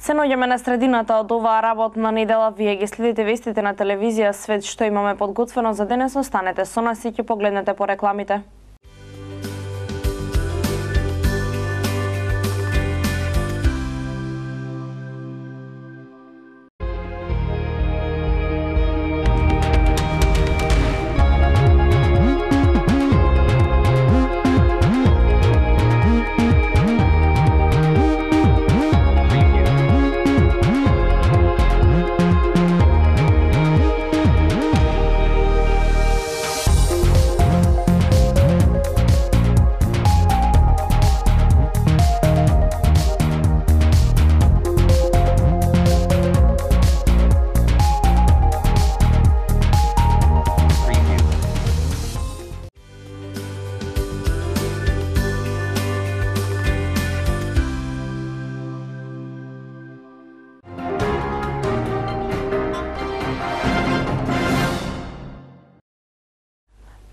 Се наоѓаме на средината од оваа работна недела. Вие ги следите вестите на телевизија Свет, што имаме подготвено за денес. Останете со нас и ќе погледнете по рекламите.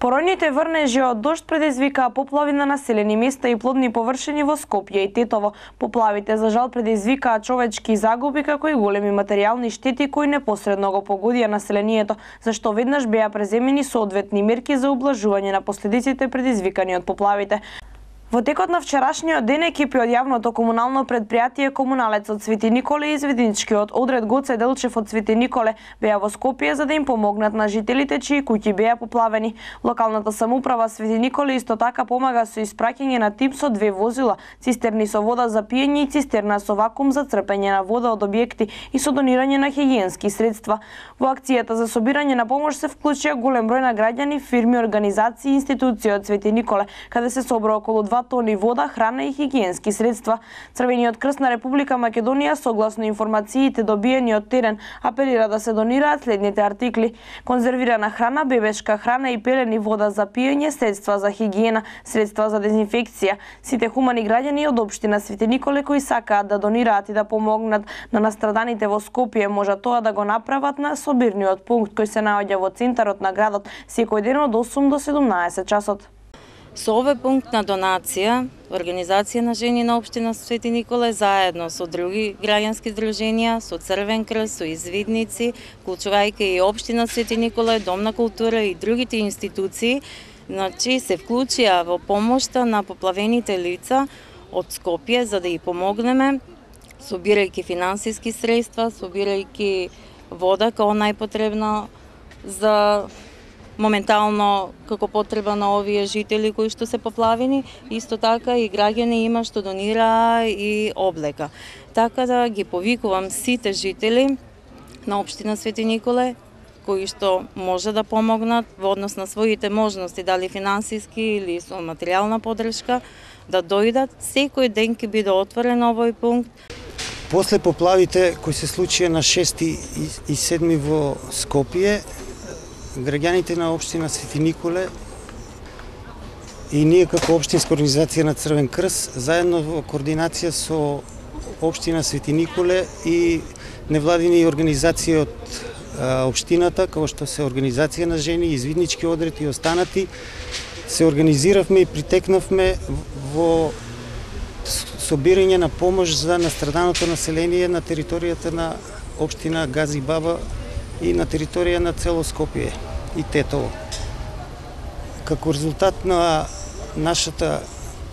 Поројните врнежи од дожд предизвикаа поплави на населени места и плодни површини во Скопје и Тетово. Поплавите за жал предизвикаа човечки загуби како и големи материјални штети кои непосредно го погодија населението, зашто веднаш беа преземени соодветни мерки за ублажување на последиците предизвикани од поплавите. Во текот на вчерашниот ден екипи од јавното комунално предпријатие Комуналец од Свети Николе и изведничкиот одред Гоце Делчев од Свети Николе беа во Скопје за да им помогнат на жителите чии куќи беа поплавени. Локалната самоуправа Свети Николе исто така помага со испраќање на тим со 2 возила, цистерни со вода за пиење и цистерна со вакуум за црпење на вода од објекти и со донирање на хигиенски средства. Во акцијата за собирање на помош се вклучија голем број на граѓани, фирми, организации и институции од Свети Николе, каде се собра околу 2 тони вода, храна и хигиенски средства. Црвениот крст на Република Македонија, согласно информациите добиени од терен, апелира да се донираат следните артикли: конзервирана храна, бебешка храна и пелени, вода за пиење, средства за хигиена, средства за дезинфекција. Сите хумани граѓани од општина Свети Николе кои сакаат да донираат и да помогнат на настраданите во Скопје, можат тоа да го направат на собирниот пункт кој се наоѓа во центарот на градот секој ден од 8 до 17 часот. Со овој пункт на донација, Организација на жени на општина Свети Николе заедно со други граѓански здруженија, со Црвен крст, со извидници, вклучувајќи и општина Свети Николе, Дом на култура и другите институции, се вклучија во помошта на поплавените лица од Скопје за да ги помогнеме, собирајќи финансиски средства, собирајќи вода како најпотребна за моментално како потреба на овие жители кои што се поплавени, исто така и граѓани има што донира и облека. Така да ги повикувам сите жители на општина Свети Николе кои што може да помогнат во однос на своите можности, дали финансиски или со материјална поддршка, да дојдат. Секој ден ќе биде отворен овој пункт. После поплавите кои се случија на 6 и 7 во Скопје, граѓаните на општина Свети Николе и ние како општинска организација на Црвен крст, заедно во координација со општина Свети Николе и невладини организации од општината, како што се Организација на жени, Извиднички одред и останати, се организиравме и притекнавме во собирање на помош за настраданото население на територијата на општина Гази Баба и на територија на цело Скопје и Тетово. Како резултат на нашата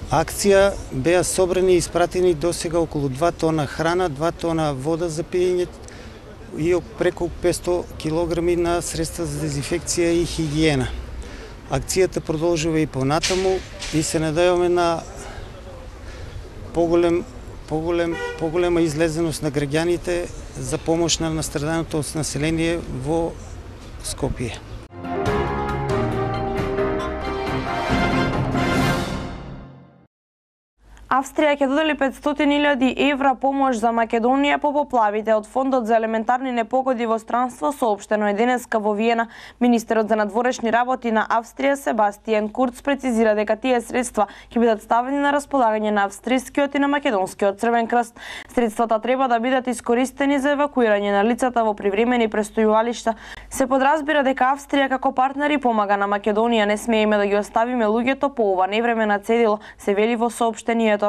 акција беа собрани и испратени досега околу 2 тона храна, 2 тона вода за пиење и преку 500 килограми на средства за дезинфекција и хигиена. Акцијата продолжува и понатаму и се надеваме на поголема излезеност на граѓаните за помош на настраданото население во Скопје. Австрија ќе додели 500.000 евра помош за Македонија по поплавите од Фондот за елементарни непогоди во странство, соопштено е денеска во Виена. Министерот за надворешни работи на Австрија Себастијан Курц прецизира дека тие средства ќе бидат ставени на располагање на австрискиот и на македонскиот Црвен крст. Средствата треба да бидат искористени за евакуирање на лицата во привремени престојувалишта. Се подразбира дека Австрија како партнер и помага на Македонија. Не смееме да ги оставиме луѓето по ова невреме на цедило, се вели во соопштението.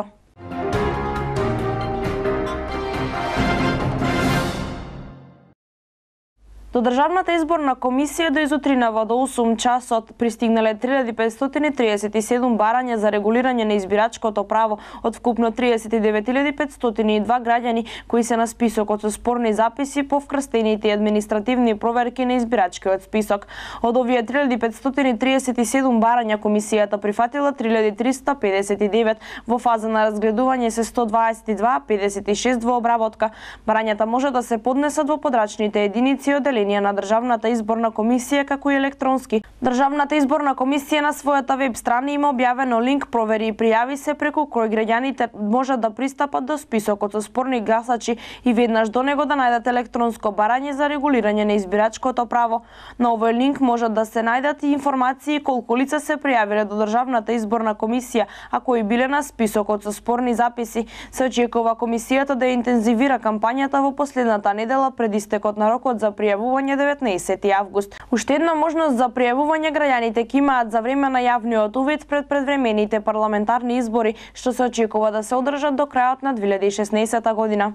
До Државната изборна комисија до изутринава до 8 часот пристигнале 3537 барања за регулирање на избирачкото право од вкупно 39502 граѓани кои се на списокот со спорни записи по вкрстените и административни проверки на избирачкиот список. Од овие 3537 барања комисијата прифатила 3359, во фаза на разгледување се 122, 56 во обработка. Барањата може да се поднесат во подрачните единици од на Државната изборна комисија како и електронски. Државната изборна комисија на својата веб страна има објавено линк "Провери и пријави се", преку кој граѓаните можат да пристапат до списокот со спорни гласачи и веднаш до него да најдат електронско барање за регулирање на избирачкото право. На овој линк можат да се најдат и информации колку лица се пријавиле до Државната изборна комисија, а кои биле на списокот со спорни записи. Се очекува комисијата да интензивира кампањата во последната недела пред истекот на рокот за пријавување 19 август. Уште една можност за пријавување граѓаните ќе имаат за време на јавниот увид пред предвремените парламентарни избори, што се очекува да се одржат до крајот на 2016 година.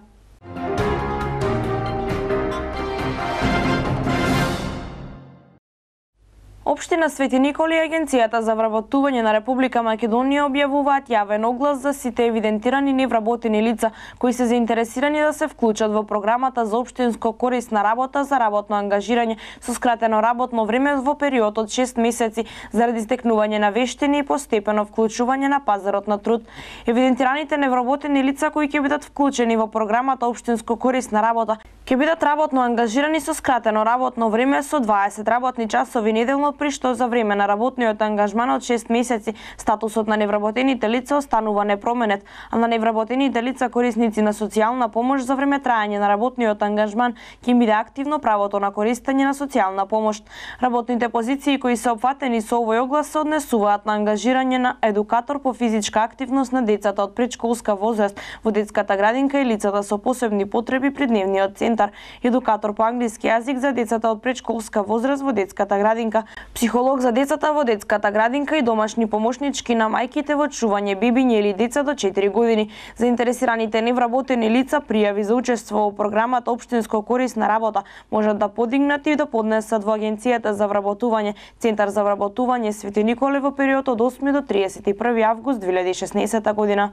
Општина Свети Николи и Агенцијата за вработување на Република Македонија објавуваат јавен оглас за сите евидентирани невработени лица кои се заинтересирани да се вклучат во програмата за општинско корисна работа за работно ангажирање со скратено работно време во период од 6 месеци заради стекнување на вештини и постепено вклучување на пазарот на труд. Евидентираните невработени лица кои ќе бидат вклучени во програмата општинско корисна работа ќе бидат работно ангажирани со скратено работно време со 20 работни часови неделно, при што за време на работниот ангажман од 6 месеци статусот на невработените лица останува непроменет, а на невработените лица корисници на социјална помош за време траење на работниот ангажман ќе им биде активно правото на користење на социјална помош. Работните позиции кои се опфатени со овој оглас се однесуваат на ангажирање на едукатор по физичка активност на децата од предшколска возраст во детската градинка и лицата со посебни потреби при дневниот центар, едукатор по англиски јазик за децата од предшколска возраст во детската градинка, психолог за децата во детската градинка и домашни помошнички на мајките во чување бебиња или деца до 4 години. Заинтересираните невработени лица пријави за учество во програмата општинско корисна работа можат да подигнат и да поднесат во Агенцијата за вработување, Центар за вработување Свети Николе во период од 8 до 31 август 2016 година.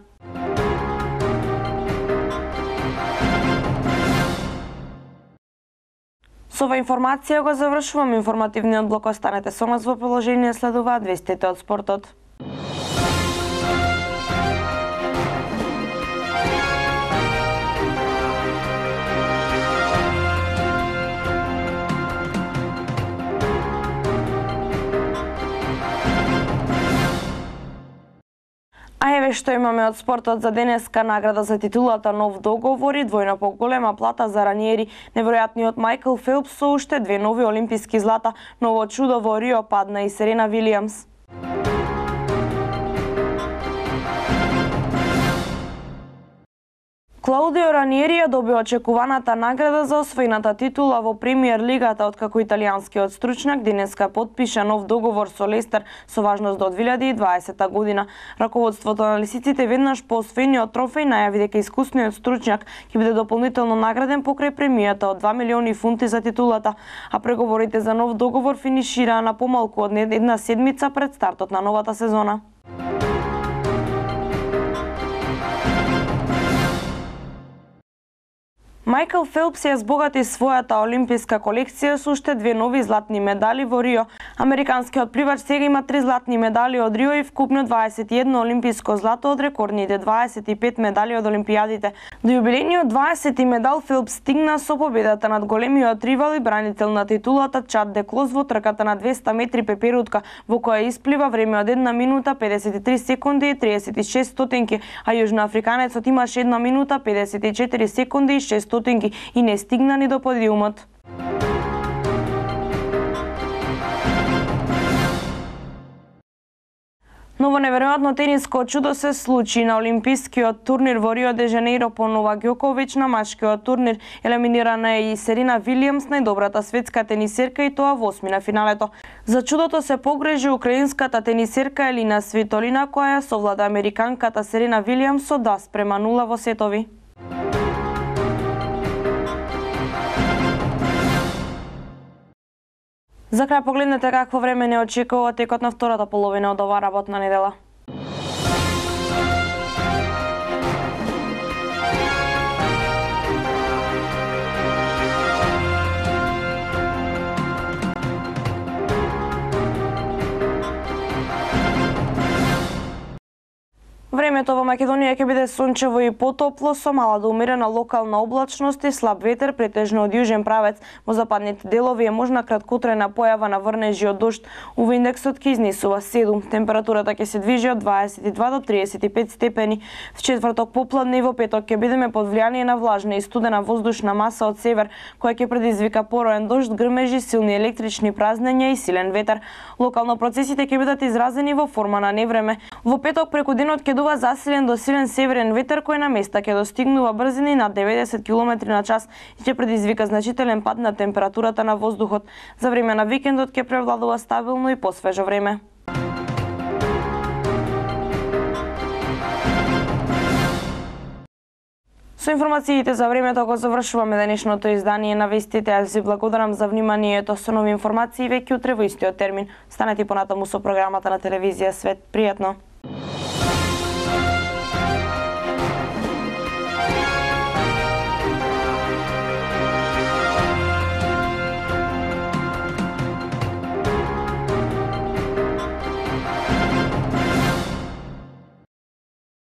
Со ова информација го завршувам информативниот блок. Останете со нас во приложение, следуваат вестите од спортот. А еве што имаме од спортот за денеска: награда за титулата "Нов договор" и двојно поголема плата за раниери. Неверојатниот Майкл Фелпс со уште 2 нови олимписки злата. Ново чудо во Рио падна и Серена Вилијамс. Клаудио Раниери ја доби очекуваната награда за освоената титула во Премиер лигата, откако италијанскиот стручњак денеска потпиша нов договор со Лестер со важност до 2020 година. Раководството на лисиците веднаш по освоениот трофеј најави дека искусниот стручњак ќе биде дополнително награден покрај премијата од 2 милиони фунти за титулата, а преговорите за нов договор финишираа на помалку од една седмица пред стартот на новата сезона. Майкл Фелпс ја збогати својата олимписка колекција со уште 2 нови златни медали во Рио. Американскиот пливач сега има 3 златни медали од Рио и вкупно 21 олимписко злато од рекордните 25 медали од олимпијадите. До јубилејниот 20 медал Фелпс стигна со победата над големиот ривал и бранител на титулата Чад де Клос во трката на 200 метри пеперутка, во која исплива време од 1 минута 53 секунди и 36 стотинки, а јужноафриканецот имаше 1 минута 54 секунди и 6 стотинки и не стигна ни до подиумот. Ново неверојатно тениско чудо се случи на олимпискиот турнир во Рио де Жанеиро по Новак Ѓоковиќ. На машкиот турнир елиминирана е и Серена Вилијамс, најдобрата светска тенисерка, и тоа во осмина финалето. За чудото се погрежи украинската тенисерка Елина Свитолина, која ја совлада американката Серена Вилијамс со 2:0 во сетови. За крај погледнете какво време не очекува текот на втората половина од оваа работна недела. Времето во Македонија ќе биде сончево и потопло со мала до умерена локална облачност и слаб ветер претежно од јужен правец. Во западните делови е можна краткотрајна појава на врнежи од дожд. УВ индексот ќе изнесува 7. Температурата ќе се движи од 22 до 35 степени. В четврток попладне и во петок ќе бидеме под влијание на влажна и студена воздушна маса од север, која ќе предизвика пороен дожд, грмежи, силни електрични празнења и силен ветер. Локално процесите ќе бидат изразени во форма на невреме. Во петок преку денот ќе дува засилен до силен северен ветер кој на места ќе достигнува брзини над 90 км на час и ќе предизвика значителен пад на температурата на воздухот. За време на викендот ќе превладува стабилно и посвежо време. Со информациите за времето го завршуваме денешното издание на вестите. Аз ви благодарам за вниманието. Со нови информации веќе утре во истиот термин. Станете понатаму со програмата на телевизија Свет. Пријатно!